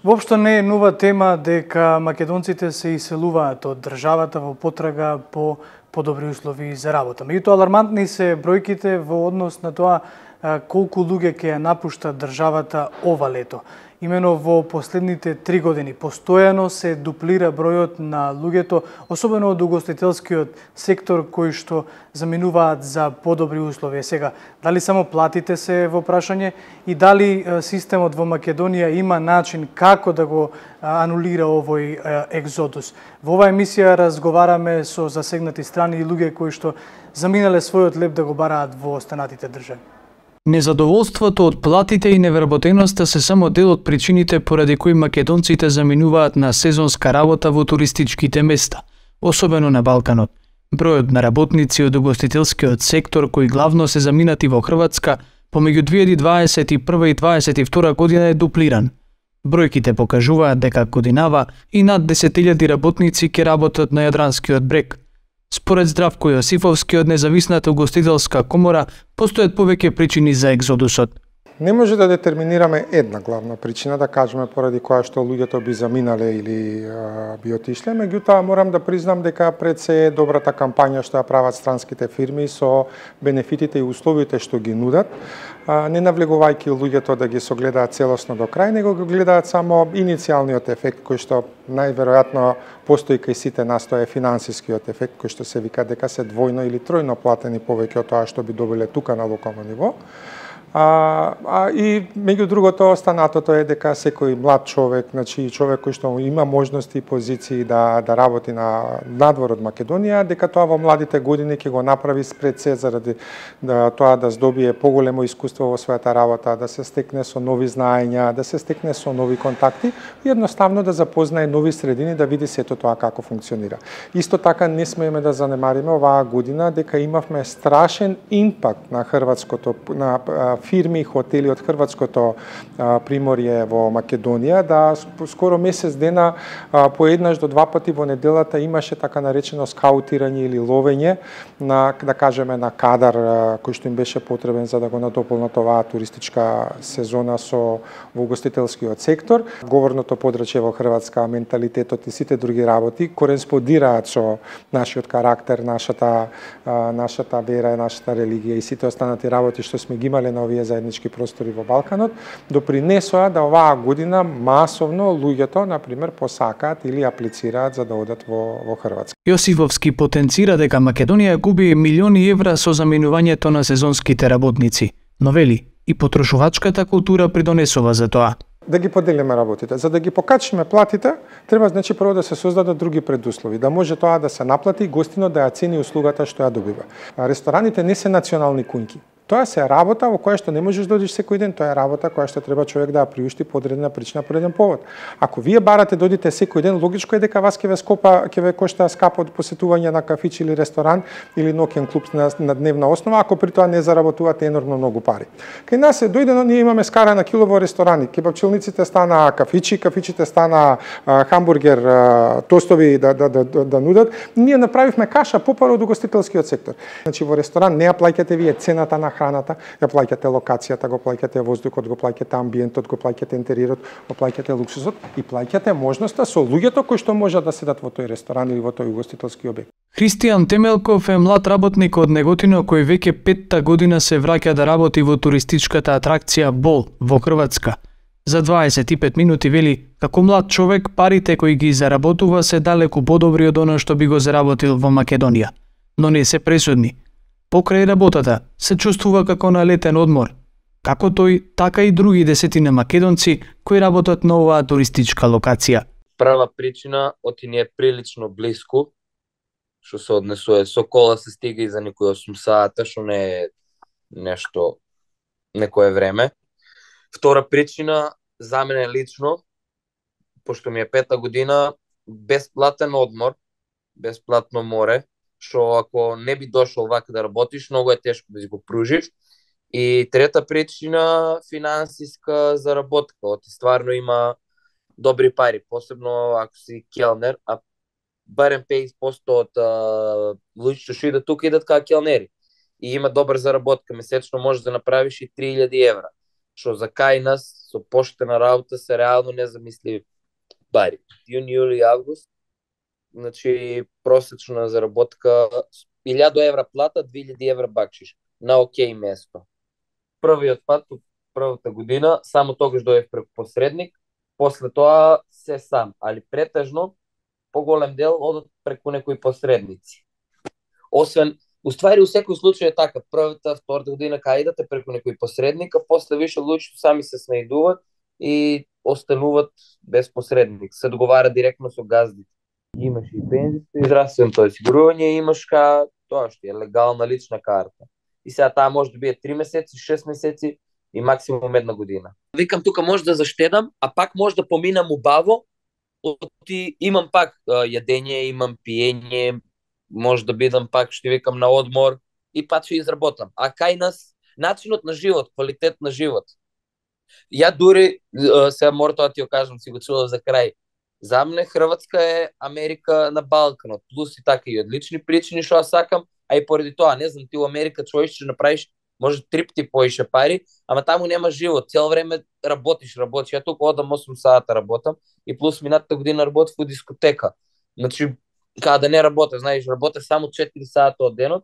Воопшто не е нова тема дека македонците се иселуваат од државата во потрага по подобри услови за работа. Меѓутоа, алармантни се бројките во однос на тоа колку луѓе ќе ја напуштат државата ова лето. Имено во последните 3 години постојано се дуплира бројот на луѓето, особено од угостителскиот сектор, кои што заминуваат за подобри услови. Сега, дали само платите се во прашање и дали системот во Македонија има начин како да го анулира овој екзодус? Во оваа емисија разговараме со засегнати страни и луѓе кои што заминале својот леп да го бараат во останатите држави. Незадоволството од платите и невработеноста се само дел од причините поради кои македонците заминуваат на сезонска работа во туристичките места, особено на Балканот. Бројот на работници од угостителскиот сектор кои главно се заминати во Хрватска помеѓу 2021 и 2022 година е дуплиран. Бројките покажуваат дека годинава и над 10.000 работници ќе работат на Јадранскиот брег. Според Здравко Јосифовски од Независната угостителска комора, постојат повеќе причини за екзодусот. Не може да детерминираме една главна причина, да кажеме поради која што луѓето би заминале или би отишле, меѓутоа морам да признам дека пред се добрата кампања што ја прават странските фирми со бенефитите и условите што ги нудат, не навлегувајќи луѓето да ги согледаат целосно до крај, него го гледаат само иницијалниот ефект кој што најверојатно постои кај сите нас, тоа е финансискиот ефект кој што се вика дека се двојно или тројно платени повеќе од тоа што би добиле тука на локално ниво. И меѓу другото останатото е дека секој млад човек, значи човек кој што има можности и позиции да работи надвор од Македонија, дека тоа во младите години ќе го направи пред се заради тоа да здобие поголемо искуство во својата работа, да се стекне со нови знаења, да се стекне со нови контакти и едноставно да запознае нови средини, да види сето тоа како функционира. Исто така не смееме да занемариме оваа година дека имавме страшен импакт на хрватското на фирми и хотели од хрватското приморје во Македонија, да скоро месец дена по еднаш до 2 пати во неделата имаше така наречено скаутирање или ловење на, да кажеме, на кадар кој што им беше потребен за да го надополнат оваа туристичка сезона во угостителскиот сектор. Говорното подрачје во Хрватска, менталитетот и сите други работи кореспондираат со нашиот карактер, нашата вера, нашата религија и сите останати работи што сме ги имале на овие заеднички простори во Балканот, допринесоа да оваа година масовно луѓето, например, посакаат или аплицираат за да одат во Хрватска. Јосифовски потенцира дека Македонија губи милиони евра со заминувањето на сезонските работници, но вели и потрошувачката култура придонесува за тоа. Да ги поделиме работите. За да ги покачиме платите, треба значи прво да се создадат други предуслови, да може тоа да се наплати и гостино да ја цени услугата што ја добива. Рестораните не се национални куњки. Тоа се работа во која што не можеш да одиш секој ден, тоа е работа која што треба човек да ја приушти по одредена причина, по одреден повод. Ако вие барате да одите секој ден, логичко е дека вас ќе ве кошта скапо од посетување на кафич или ресторан или ноќен клуб на дневна основа, ако при тоа не заработувате енормно многу пари. Кај нас е дојдено, ние имаме скара на кило во ресторани, кебапчилниците стана кафичи, кафичите стана хамбургер, тостови да нудат. Ние направивме каша попар од угостителскиот сектор. Значи во ресторан не ја плаќате вие цената на храната, ја плаќате локацијата, го плаќате воздухот, го плаќате амбиентот, го плаќате интериерот, го плаќате луксусот и плаќате можноста со луѓето кои што можат да седат во тој ресторан или во тој угостителски објект. Христијан Темелков е млад работник од Неготино кој веќе 5-та година се враќа да работи во туристичката атракција Бол во Хрватска. За 25 минути вели, како млад човек парите кои ги заработува се далеку подобри од она што би го заработил во Македонија, но не се пресудни. Покрај работата се чувствува како на летен одмор, како тој, така и други десетина македонци кои работат на оваа туристичка локација. Прва причина, оти ни е прилично блиску, што се однесува со кола се стига и за некои 8 сата, што не е нешто некое време. Втора причина, за мене лично, пошто ми е 5-та година, бесплатен одмор, бесплатно море, што ако не би дошол вака да работиш, многу е тешко да си го пружиш. И трета причина, финансиска заработка. Оти стварно има добри пари, посебно ако си келнер, а барем 50% од луѓето што идат тука идат као келнери. И има добра заработка, месечно можеш да направиш и 3000 евра. Што за кај нас, со поштена работа се реално незамисливи пари. Јуни, јули, август, значи просечна заработка 1000 евра плата, 2000 евра бакшиш на окей место. Првиот пат од првата година само тогаш дојдев преку посредник, после тоа се сам, али претежно поголем дел одат преку некои посредници. Освен, уствари у секој случај е така, првата, втората година кај идете преку некој посредник, а после више луѓе сами се снајдуваат и остануваат без посредник, се договара директно со газдите. Имаш и пензијско и здравственото осигурување, имаш тоа што е легална лична карта. И сега таа може да биде 3 месеци, 6 месеци и максимум 1 година. Викам, тука може да заштедам, а пак може да поминам убаво, имам пак јадење, имам пиење, може да бидам пак, што викам, на одмор и пак ќе изработам. А кај нас, начинот на живот, квалитет на живот. Ја дури, сега мора тоа ти ја кажам, си го чула за крај, за мене Хрватска е Америка на Балканот, плюс и така и одлични причини што ја сакам, а и поради тоа, не знам, ти у Америка човек ќе направиш може 3 пати поише пари, ама таму нема живот, цело време работиш. Ја тука одам 8 сата работам и плюс минатата година работев во дискотека. Значи, кога да не работя, знаеш, работя само 4 сата од денот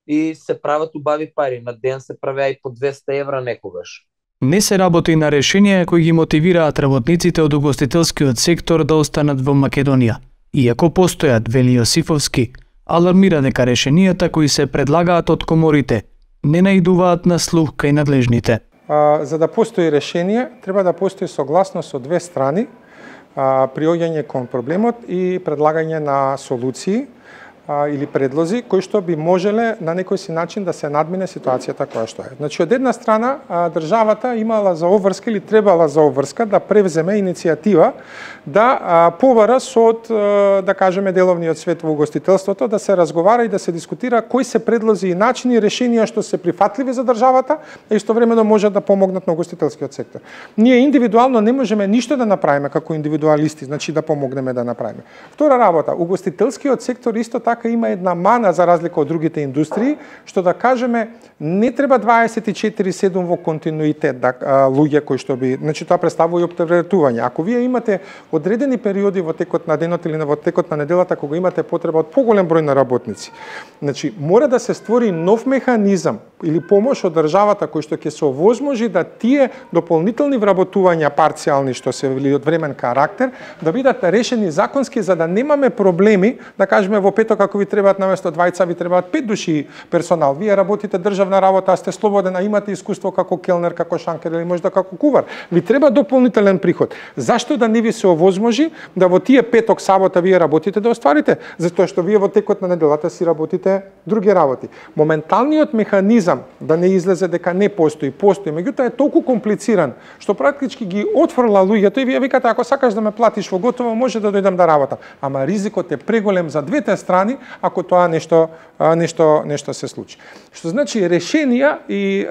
и се прават убави пари. На ден се правеа и по 200 евра некогаш. Не се работи на решенија кои ги мотивираат работниците од угостителскиот сектор да останат во Македонија. Иако постојат, вели Јосифовски, алармира дека решенијата кои се предлагаат од коморите не наидуваат на слух кај надлежните. За да постои решение, треба да постои согласност од две страни, приоѓање кон проблемот и предлагање на солуции или предлози кои што би можеле на некој си начин да се надмине ситуацијата која што е. Значи, од една страна, државата имала за обврска или требала за обврска да превземе иницијатива да побара со, да кажеме, деловниот свет во угостителството, да се разговара и да се дискутира кои се предлози и начини и решенија што се прифатливи за државата, а истовремено можат да помогнат на угостителскиот сектор. Ние индивидуално не можеме ништо да направиме како индивидуалисти, значи да помогнеме да направиме. Втора работа, угостителскиот сектор исто така има една мана за разлика од другите индустрии, што да кажеме не треба 24/7 во континуитет луѓе кои што би, значи тоа представува и оптеретување. Ако вие имате одредени периоди во текот на денот или во текот на неделата кога имате потреба од поголем број на работници, значи мора да се створи нов механизам или помош од државата кој што ќе се овозможи да тие дополнителни вработувања парцијални што се или од времен карактер да бидат решени законски за да немаме проблеми, да кажеме во петок ако ви требаат наместо 2 ви требаат 5 души персонал. Вие работите државна работа, а сте слободен, а имате искуство како келнер, како шанкер или можда како кувар. Ви треба дополнителен приход. Зашто да не ви се овозможи да во тие петок, сабота вие работите да остварите? Затоа што вие во текот на неделата си работите други работи. Моменталниот механизам да не излезе дека не постои, меѓутоа е толку комплициран што практички ги отфрла луѓето и вие викате ако сакаш да ме платиш во готово може да дојдам да работам. Ама ризикот е преголем за двете страни ако тоа нешто се случи. Што значи решенија и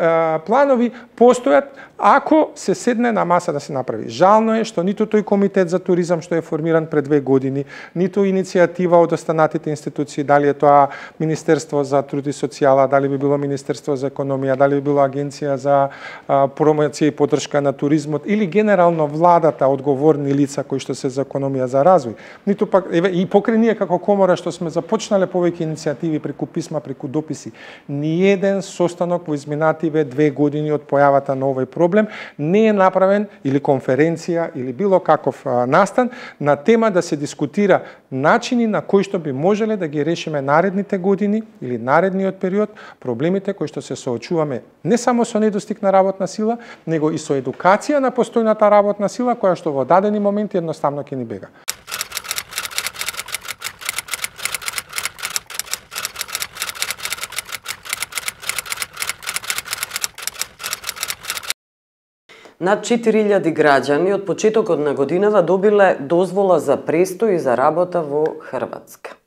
планови постојат ако се седне на маса да се направи. Жално е што ниту тој комитет за туризам што е формиран пред 2 години, ниту иницијатива од останатите институции, дали е тоа Министерство за труд и социјала, дали би било Министерство за економија, дали би било Агенција за промоција и поддршка на туризмот или генерално владата, одговорни лица кои што се за економија за развој. Ниту пак и покрај ние како комора што сме започнале повеќе иницијативи преку писма, преку дописи, ниеден состанок во изминативе 2 години од појавата на овој проблем не е направен или конференција или било каков настан на тема да се дискутира начини на кои што би можеле да ги решиме наредните години или наредниот период проблемите кои што се соочуваме не само со недостиг на работна сила, него и со едукација на постојната работна сила која што во дадени моменти едноставно ќе ни бега. Над 4000 граѓани од почетокот на годинава добиле дозвола за престој и за работа во Хрватска.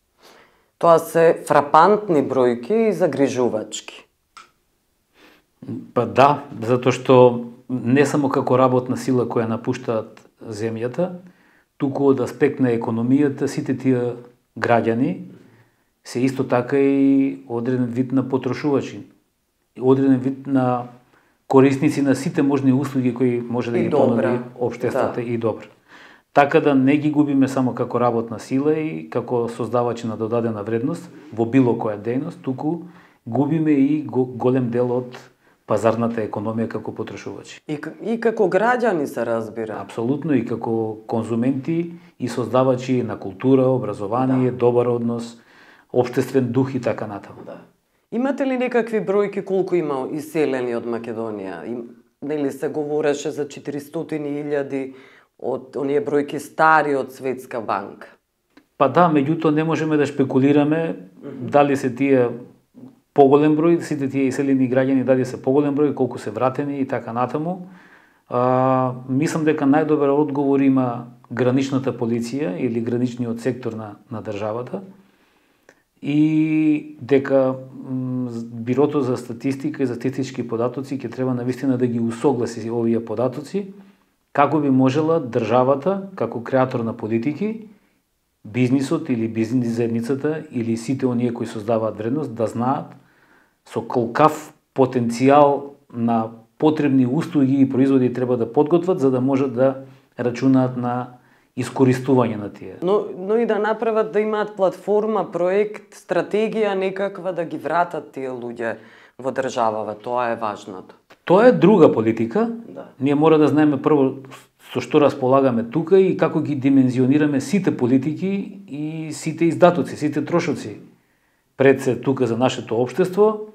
Тоа се фрапантни бројки и загрижувачки. Па да, затоа што не само како работна сила која напуштаат земјата, туку од аспект на економијата, сите тие граѓани се исто така и одреден вид на потрошувачи, одреден вид на корисници на сите можни услуги кои може да ги понуди општеството и добро. Така да не ги губиме само како работна сила и како создавачи на додадена вредност во било која дејност, туку губиме и голем дел од пазарната економија како потрошувачи. И како граѓани се разбира. Апсолутно, и како конзументи и создавачи на култура, образование, добар однос, општествен дух и така натаму. Имате ли некакви бројки колку има иселени од Македонија? Нели се говореше за 400.000 од оние бројки стари од Светска банка? Па да, меѓутоа не можеме да шпекулираме дали се тие поголем број, сите тие иселени граѓани дали се поголем број, колку се вратени и така натаму. Мислам дека најдобар одговор има граничната полиција или граничниот сектор на државата и дека Бирото за статистика и за статистички податоци ќе треба навистина да ги усогласи овие податоци како би можела државата како креатор на политики, бизнисот или бизнис заедницата или сите оние кои создаваат вредност да знаат со колкав потенцијал на потребни услуги и производи треба да подготват за да можат да рачунаат на искористување на тие. Но и да направат да имаат платформа, проект, стратегија некаква да ги вратат тие луѓе во државава, тоа е важното. Тоа е друга политика. Да. Ние мора да знаеме прво со што располагаме тука и како ги димензионираме сите политики и сите издатоци, сите трошоци пред се тука за нашето општество,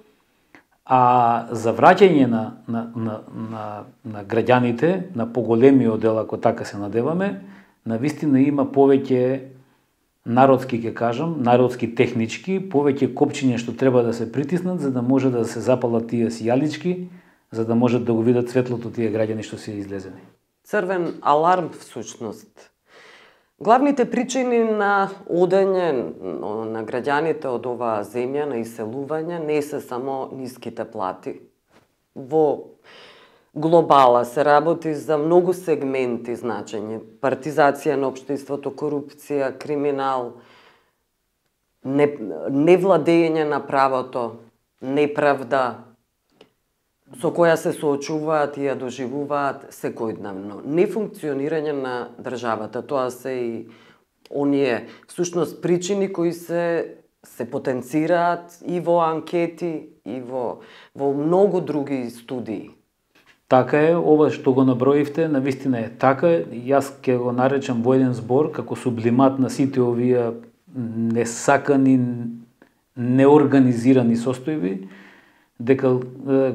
а за враќање на граѓаните, на поголемиот дел, ако така се надеваме, навистина има повеќе народски, ќе кажам, народски технички, повеќе копчиња што треба да се притиснат за да може да се запалат тие сијалички, за да можат да го видат светлото тие граѓани што се излезени. Црвен аларм всушност. Главните причини на одење на граѓаните од оваа земја, на иселување, не се само ниските плати. Во глобала се работи за многу сегменти значење. Партизација на општеството, корупција, криминал, невладење на правото, неправда, со која се соочуваат и ја доживуваат секојдневно. Нефункционирање на државата, тоа се и оние всушност причини кои се потенцираат и во анкети и во многу други студии. Така е, ова што го наброивте, навистина е така. Јас ќе го наречам во еден збор како сублимат на сите овие несакани, неорганизирани состојби, дека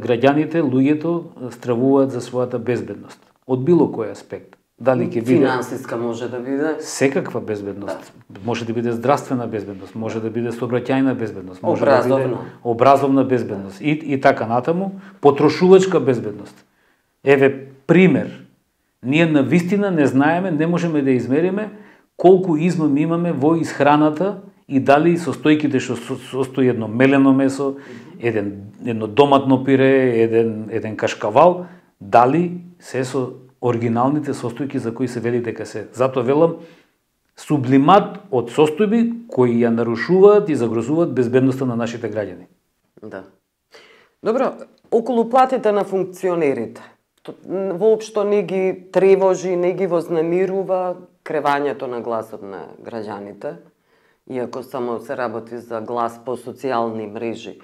граѓаните, луѓето стравуваат за својата безбедност. Од било кој аспект. Дали ќе биде финансиска може да биде, секаква безбедност. Да. Може да биде здравствена безбедност, може да биде сообраќајна безбедност, може образовна. Да биде образовна безбедност и така натаму, потрошувачка безбедност. Еве пример. Ние навистина не знаеме, не можеме да измериме колку измам имаме во исхраната и дали состојките што состои едно мелено месо, едно доматно пире, еден кашкавал, дали се со оригиналните состојки за кои се вели дека се. Затоа велам сублимат од состојби кои ја нарушуваат и загрозуваат безбедноста на нашите граѓани. Да. Добро, околу платите на функционерите. Воопшто не ги тревожи, не ги вознемирува кревањето на гласот на граѓаните, иако само се работи за глас по социјални мрежи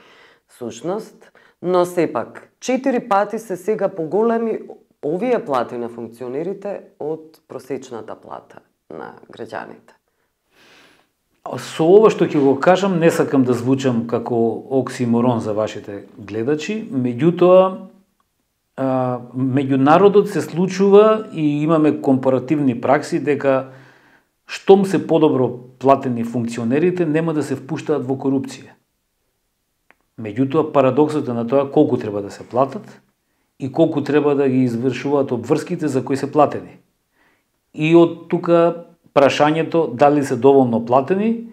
сушност, но сепак 4 пати се сега поголеми овие плати на функционерите од просечната плата на граѓаните. Со ова што ќе го кажам, не сакам да звучам како оксиморон за вашите гледачи, меѓутоа меѓу народот се случува и имаме компаративни пракси дека штом се подобро платени функционерите нема да се впуштаат во корупција. Меѓутоа парадоксот е на тоа колку треба да се платат и колку треба да ги извршуваат обврските за кои се платени. И од тука прашањето дали се доволно платени,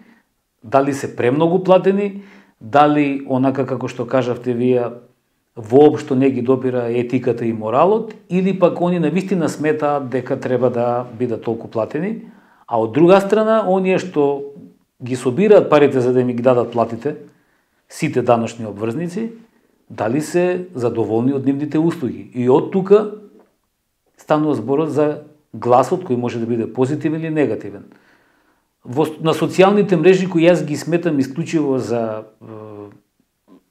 дали се премногу платени, дали онака како што кажавте вие воопшто не ги допира етиката и моралот, или пак они навистина сметаат дека треба да бидат толку платени, а од друга страна, оние што ги собираат парите за да ми ги дадат платите, сите даношни обврзници, дали се задоволни од нивните услуги. И од тука станува зборот за гласот кој може да биде позитивен или негативен. На социјалните мрежи кои јас ги сметам исклучиво за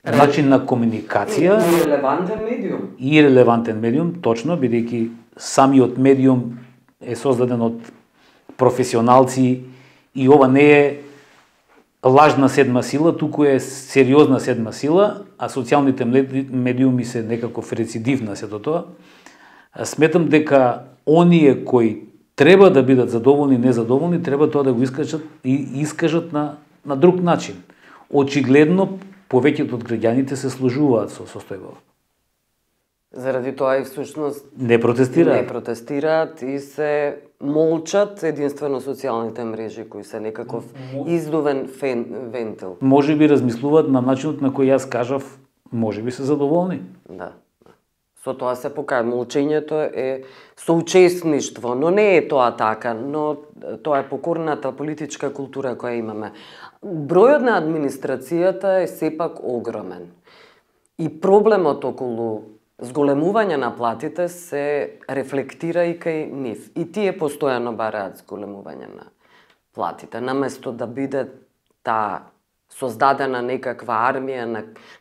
начин на комуникација и релевантен медиум. И релевантен медиум, точно, бидејќи самиот медиум е создаден од професионалци и ова не е лажна седма сила, туку е сериозна седма сила, а социјалните медиуми се некаков рецидив на сето тоа. Сметам дека оние кои треба да бидат задоволни, незадоволни, треба тоа да го искажат на друг начин. Очигледно, повеќето од граѓаните се сложуваат со состојбава. Заради тоа и всушност не протестираат и се молчат единствено социјалните мрежи кои се некаков издувен вентил. Може би размислуваат на начинот на кој јас кажав, може би се задоволни. Да. Со тоа се покажа, молчењето е соучесништво, но не е тоа така, но тоа е покорната политичка култура која имаме. Бројот на администрацијата е сепак огромен. И проблемот околу зголемување на платите се рефлектира и кај нив. И тие постојано бараат зголемување на платите, наместо да биде таа создадена некаква армија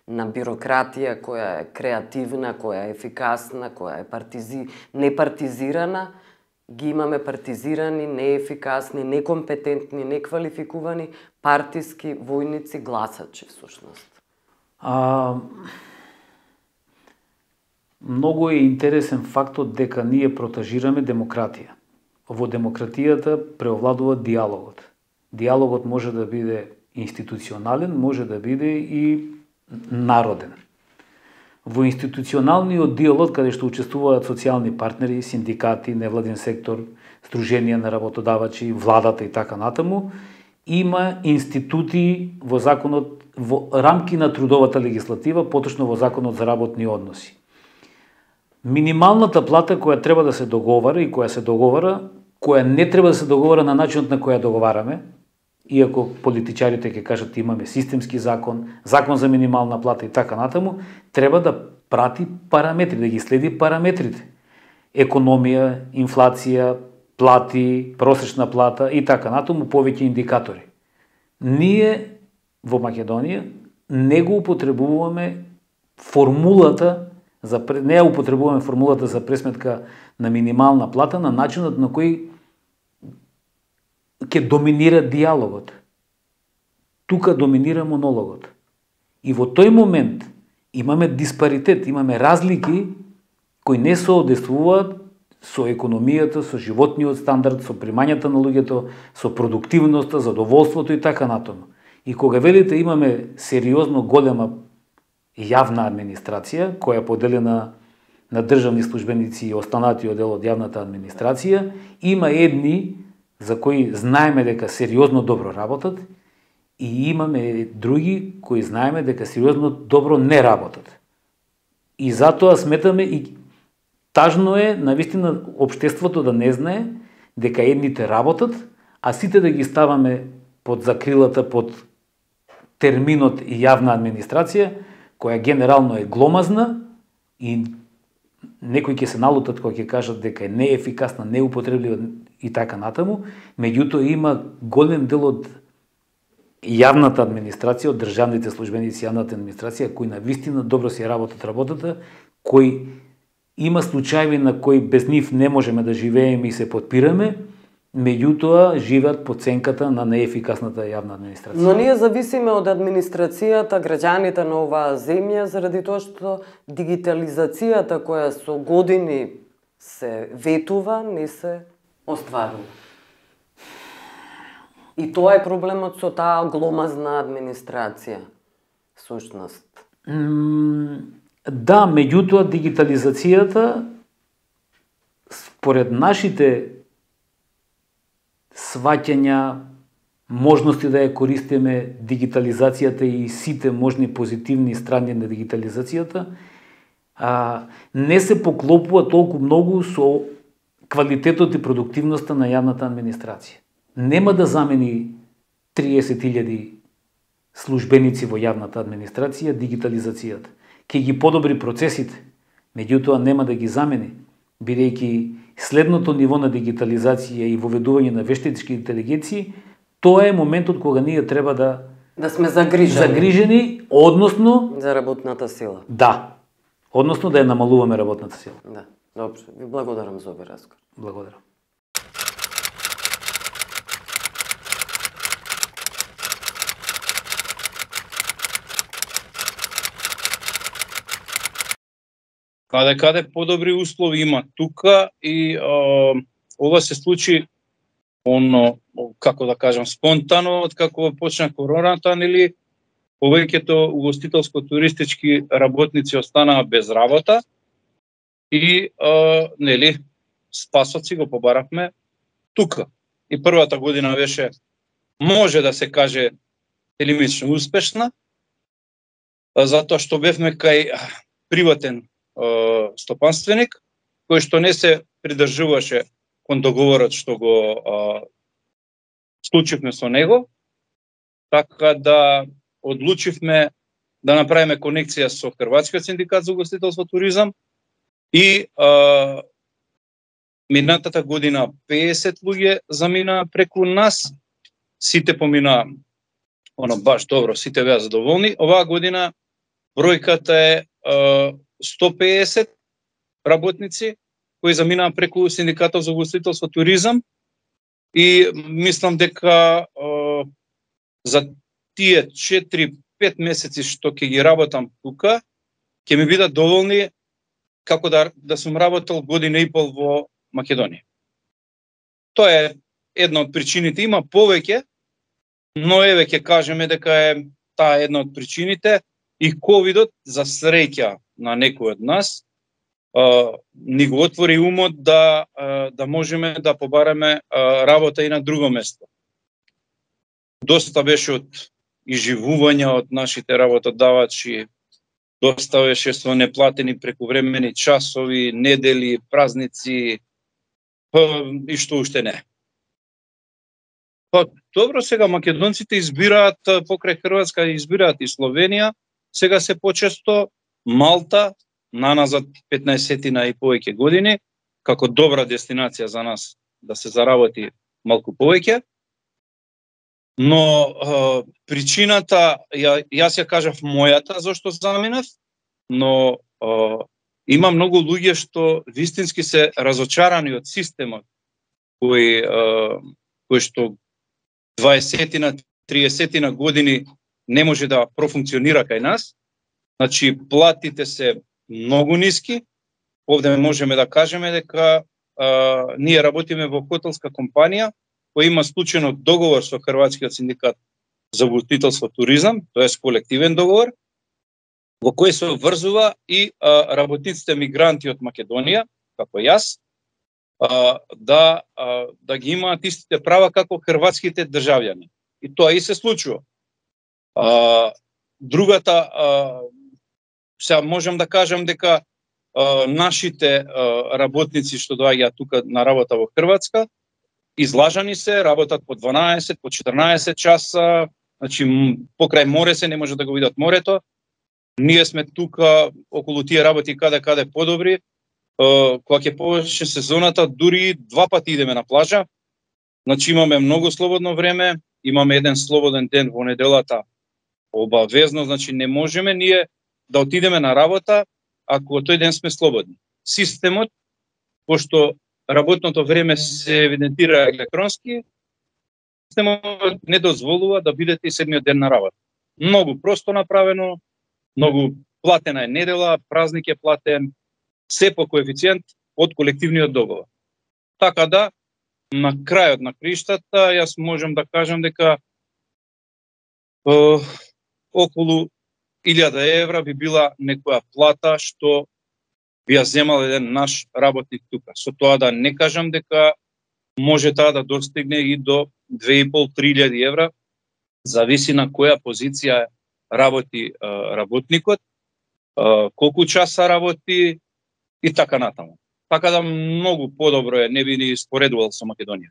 на бирократија која е креативна, која е ефикасна, која е непартизирана, ги имаме партизирани, неефикасни, некомпетентни, неквалификувани партиски војници, гласачи всушност. Многу е интересен фактот дека ние протажираме демократија. Во демократијата преовладува диалогот. Диалогот може да биде институционален, може да биде и народен. Во институционалниот диалог, каде што учествуваат социјални партнери, синдикати, невладин сектор, сдруженија на работодавачи, владата и така натаму, има институти во законот, во рамки на трудовата легислатива, поточно во законот за работни односи. Минималната плата која треба да се договара и која се договара, која не треба да се договара на начинот на која договараме, иако политичарите ќе кажат имаме системски закон, закон за минимална плата и така натаму, треба да прати параметри, да ги следи параметрите. Економија, инфлација, плати, просечна плата и така натаму, повеќе индикатори. Ние во Македонија не го употребуваме формулата за пресметка на минимална плата на начинот на кој ќе доминира диалогот. Тука доминира монологот. И во тој момент имаме диспаритет, имаме разлики кои не соодействуваат со економијата, со животниот стандард, со примањата на луѓето, со продуктивноста, задоволството и така натаму. И кога велите имаме сериозно голема јавна администрација, која е поделена на државни службеници и останатиот дел од јавната администрација, има едни за кои знаеме дека сериозно добро работат и имаме други кои знаеме дека сериозно добро не работат. И затоа сметаме и тажно е навистина општеството да не знае дека едните работат, а сите да ги ставаме под закрилата, под терминот и јавна администрација, која генерално е гломазна и некои ќе се налутат кога ќе кажат дека е неефикасна, неупотреблива и така натаму, меѓутоа има голем дел од јавната администрација, од државните службеници јавната администрација кои навистина добро си работат работата, кои има случаи на кои без нив не можеме да живееме и се подпираме, меѓутоа живеат по ценката на неефикасната јавна администрација. Но ние зависиме од администрацијата, граѓаните на оваа земја, заради тоа што дигитализацијата која со години се ветува, не се остварува. И тоа е проблемот со таа гломазна администрација, сушност. Да, меѓутоа дигитализацијата според нашите сваќања, можности да ја користиме дигитализацијата и сите можни позитивни страни на дигитализацијата, не се поклопува толку многу со квалитетот и продуктивноста на јавната администрација. Нема да замени 30.000 службеници во јавната администрација дигитализацијата. ќе ги подобри процесите, меѓутоа нема да ги замени, бидејќи следното ниво на дигитализација и воведување на вештински интелигенции, тоа е моментот кога ние треба да сме загрижени, односно за работната сила. Да. Односно да ја намалуваме работната сила. Да. Добро, ви благодарам за овој разговор. Благодарам. Каде подобри услови има тука и ова се случи како да кажам, спонтано, откако почна короната, нели, повеќето угостителско-туристички работници останаа без работа и, нели, спасот си го побаравме тука. И првата година беше, може да се каже, делимично успешна, затоа што бевме кај приватен стопанственик, кој што не се придржуваше кон договорот што го склучивме со него, така да одлучивме да направиме конекција со Хрватскиот синдикат за угостителство и туризам и минатата година 50 луѓе замина преку нас, сите помина баш добро, сите беа задоволни. Оваа година бројката е 150 работници кои заминаа преку синдикатот за угостителство и туризам и мислам дека за тие 4-5 месеци што ќе ги работам тука, ќе ми бидат доволни како да сум работел година и пол во Македонија. Тоа е една од причините, има повеќе, но еве ќе кажеме дека е таа една од причините и ковидот за среќа на некој од нас ни го отвори умот да можеме да побараме работа и на друго место. Доста беше од изживување од нашите работодавачи, доста беше со неплатени прековремени часови, недели, празници и што уште не. Добро, сега македонците избираат покрај Хрватска, избираат и Словенија, сега се почесто Малта, наназад 15-тина и повеќе години, како добра дестинација за нас да се заработи малку повеќе. Но причината, јас ја кажав мојата зашто заминав, но има многу луѓе што вистински се разочарани од системот кој што 20-тина, 30-тина години не може да профункционира кај нас. Значи, платите се многу ниски. Овде можеме да кажеме дека ние работиме во хотелска компанија која има склучено договор со Хрватскиот синдикат за угостителство и туризам, тоа е колективен договор, во кој се обврзува и работниците мигранти од Македонија, како јас, да ги имаат истите права како хрватските државјани. И тоа и се случува. Другата, сега можам да кажам дека нашите работници што доаѓаат тука на работа во Хрватска, излажани се, работат по 12, по 14 часа, значи покрај море се, не може да го видат морето. Ние сме тука околу тие работи каде подобри. Кога ќе повеќе сезоната, дури 2 пати идеме на плажа. Значи имаме многу слободно време, имаме еден слободен ден во неделата обавезно, значи не можеме ние да отидеме на работа ако тој ден сме слободни. Системот, пошто работното време се евидентира електронски, системот не дозволува да бидете и седмиот ден на работа. Многу просто направено, многу платена е недела, празник е платен, се по коефициент од колективниот договор. Така да, на крајот на криштата, јас можам да кажам дека околу 1000 евра би била некоја плата што би ја земал еден наш работник тука. Со тоа да не кажам дека може таа да достигне и до 2500-3000 евра, зависи на која позиција работи работникот, колку часа работи и така натаму. Така да многу подобро е, не би ни споредувал со Македонија.